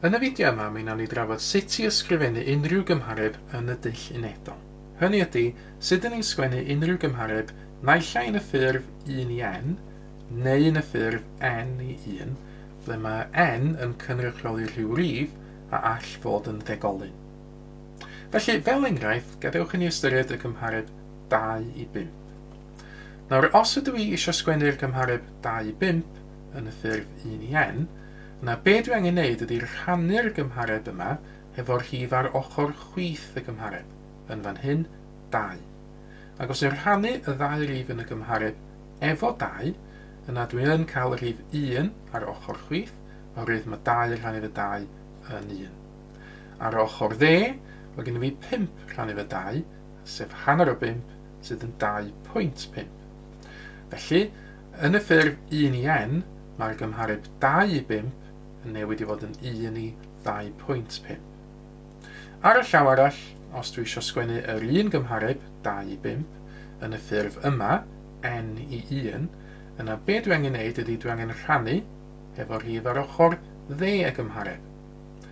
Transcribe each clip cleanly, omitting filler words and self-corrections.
Yn y fideo yma, mi wnawn ni drafod sut i ysgrifennu unrhyw gymhareb yn y dull unedol. Hynny ydy, sut ydyn ni'n sgwennu unrhyw gymhareb naill ai yn y ffurf 1 i n, neu yn y ffurf n i 1, ble mae n yn cynrychioli rhyw rif a all fod yn ddegolyn. Felly, fel enghraifft, gadewch i ni ystyried y gymhareb 2 i 5. Nawr, os ydw i eisiau sgwennu'r gymhareb 2 i 5 yn y ffurf 1 i n, yna be dwi angen neud ydy rhannu'r gymhareb yma hefo'r rhif ar ochr chwith y gymhareb, yn fan hyn 2. Ac os yw'n rhannu y ddau rif yn y gymhareb efo 2, yna dwi yn cael y rhif 1 ar ochr chwith, oherwydd mae 2 rhannu efo 2 yn 1. Ar ochr dde, mae gen i fi 5 rhannu efo 2, sef hanner o 5, sydd yn 2.5. Felly, yn y ffurf 1 i n, mae'r gymhareb 2 i 5 yn newid i fod yn 1 i 2.5. Ar y llaw arall, os dwi eisiau sgwennu yr un gymhareb 2 i 5 yn y ffurf yma, n i 1, yna be dwi angen neud ydy dwi angen rhannu efo'r rhif ar ochr dde y gymhareb,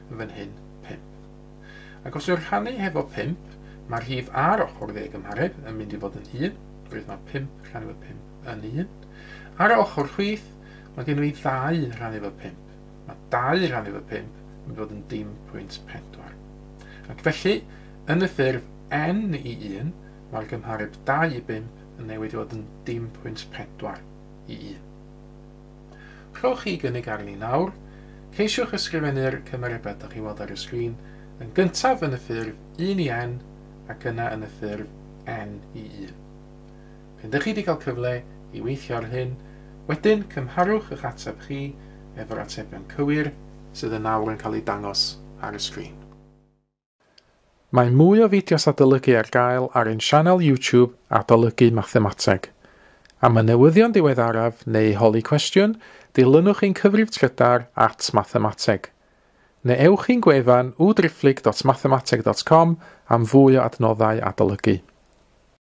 yn fan hyn 5. Ac os yw'r rhannu hefo 5, mae'r rhif ar ochr dde y gymhareb yn mynd i fod yn 1, oherwydd mae 5 rhannu efo 5 yn 1. Ar y ochr chwith, mae gen i 2 rhannu efo 5. Mae 2 rhannu efo 5 yn mynd i fod yn 0.4. Ac felly, yn y ffurf n i 1, mae'r gymhareb 2 i 5 yn newid i fod yn 0.4 i 1. Rhowch chi gynnig arni nawr. Ceisiwch ysgrifennu'r cymarebau ydych chi'n weld ar y sgrin yn gyntaf yn y ffurf 1 i n ac yna yn y ffurf n i 1. Pan ydych chi wedi cael cyfle i weithio ar hyn, wedyn cymharwch eich ateb chi efo'r atebion cywir sydd yn awr yn cael eu dangos ar y sgrin. Mae mwy o fideos adolygu ar gael ar ein sianel YouTube Adolygu Mathemateg. Am y newyddion diweddaraf neu holi cwestiwn, dilynwch ein cyfrif trydar @mathemateg. Neu ewch i'n gwefan www.mathemateg.com am fwy o adnoddau adolygu.